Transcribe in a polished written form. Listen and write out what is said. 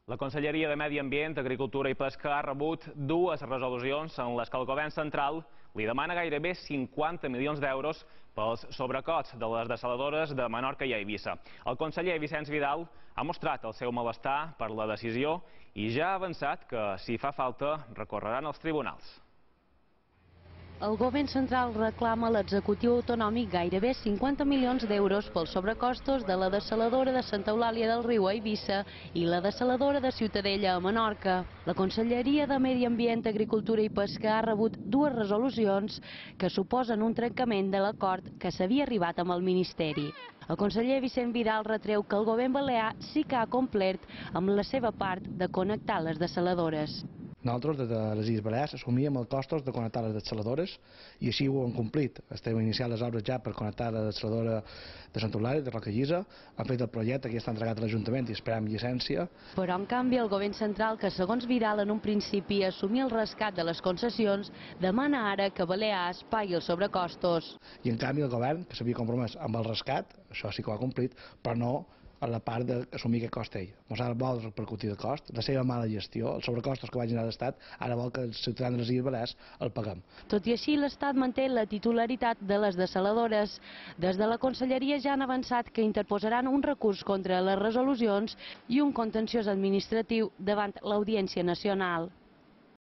La Conselleria de Medi Ambient, Agricultura i Pesca ha rebut dues resolucions en les que el govern central li demana gairebé 50 milions d'euros pels sobrecosts de les dessaladores de Menorca i Eivissa. El conseller Vicenç Vidal ha mostrat el seu malestar per la decisió i ja ha avançat que, si fa falta, recorreran als tribunals. El govern central reclama a l'executiu autonòmic gairebé 50 milions d'euros pels sobrecostos de la dessaladora de Santa Eulàlia del Riu a Eivissa i la dessaladora de Ciutadella a Menorca. La Conselleria de Medi Ambient, Agricultura i Pesca ha rebut dues resolucions que suposen un trencament de l'acord que s'havia arribat amb el Ministeri. El conseller Vicenç Vidal retreu que el govern balear sí que ha complert amb la seva part de connectar les dessaladores. Nosaltres, des de les Illes Balears, assumíem els costos de connectar les dessaladores i així ho hem complit. Estem iniciant les obres ja per connectar la dessaladora de Santa Eulàlia, de Rocallisa. Han fet el projecte que ja està entregat a l'Ajuntament i esperem llicència. Però, en canvi, el govern central, que segons Vidal en un principi assumia el rescat de les concessions, demana ara que Balears pagui els sobrecostos. I, en canvi, el govern, que s'havia compromès amb el rescat, això sí que ho ha complit, però no a la part d'assumir aquest cost ell. Mos ara vol repercutir el cost, la seva mala gestió, els sobrecostos que va generar l'Estat, ara vol que els ciutadans de les Illes Balears el paguem. Tot i així, l'Estat manté la titularitat de les dessaladores. Des de la Conselleria ja han avançat que interposaran un recurs contra les resolucions i un contenciós administratiu davant l'Audiència Nacional.